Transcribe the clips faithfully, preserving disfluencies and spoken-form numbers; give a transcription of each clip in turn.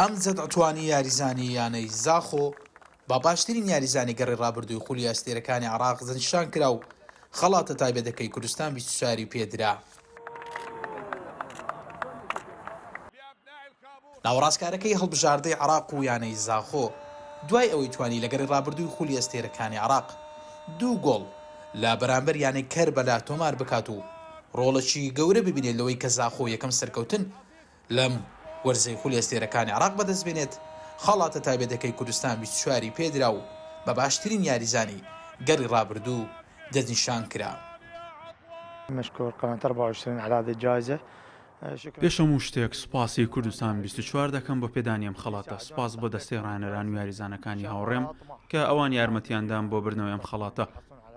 ئەمجەد عوتوانی یاریزانی یانەی زاخۆ بە باشترین یاریزانی گەڕی ڕابردووی خولی ئەستێرەکانی عێراق دەستنیشان کرا و خەڵاتە تایبەتەکەی کوردستان بیست و چواری پێدرا. ناوەڕاستکارەکەی هەڵبژاردەی عێراق و یانەی زاخۆ دوای ئەوەی توانی لە گەڕی ڕابردووی خولی ئەستێرەکانی عێراق دوو گۆڵ لە بەرامبەر یانەی کەربەلا تۆمار بکات و ڕۆڵێکی گەورە ببینێت لەوەی کە زاخۆ یەکەم سەرکەوتن لەم وەرزەی خولی ئەستێرەکانی عێراق بەدەست بێنێت، خەڵاتە تایبەتەکەی کوردستان بیست و چواری پێدرا و بە باشترین یاریزانی گەڕی ڕابردوو دەستنیشان کرا. مشكور قناة أربعة وعشرين على هذه الجائزة. پێش هەموو شتێک سوپاسی کوردستان بیست و چوار دەکەم بۆ پێدانی ئەم خەڵاتە. سوپاس بۆ دەستەی ڕاهێنەران و یاریزانەکانی هاوڕێم کە ئەوان یارمەتیاندان بۆ بردنەوەی ئەم خەڵاتە.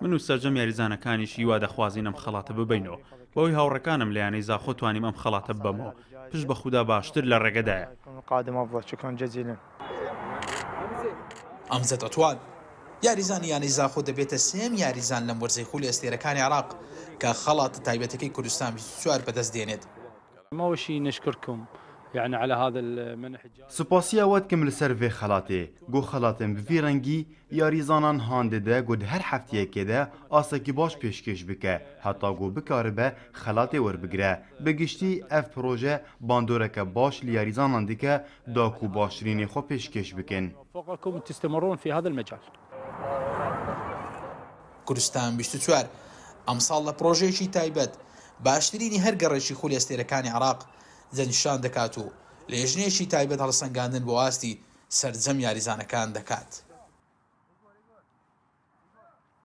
من و سەرجەم یاریزانەکانیش هیوا دەخوازین ئەم خەڵاتە ببینەوە. بەوەی هاوڕەکانم لە یانەی زاخۆ توانیم ئەم خەڵاتە ببەمەوە. پشت بە خودا باشتر لە ڕێگەدایە. ئەمجەد عوتوان یاریزانی یانەی زاخۆ دەبێتە سێم یاریزان لەم وەرزەی خولی ئەستێرەکانی عێراق کە خەڵاتە تایبەتەکەی کوردستان بیست و چوار بەدەست دێنێت. أول شيء نشكركم يعني على هذا المنح. سپاسی ئەوە دکەم لەسەر vê خەڵاتێ. گۆ خەڵاتên bi vî rengî یاریزانان هان dide ku di her hefteyekê de asekî baş pêşkêş bike heta ku bikaribe xelatê werbigire. Bi giştî ev proje bandoreke baş li yarîzanan dike da ku baştirînê xwe pêşkêş bikin. وفقكم تستمرون في هذا المجال. کوردستان بیست و چوار ئەمساڵ لە پرۆژەیەکی تایبەت باشترینی هەر گەڕێکی خولی ئەستێرەکانی عێراق دەستنیشان دەکات و لێژنەیەکی تایبەت هەڵسەنگاندن بۆ ئاستی سەرجەم یاریزانەکان دەکات.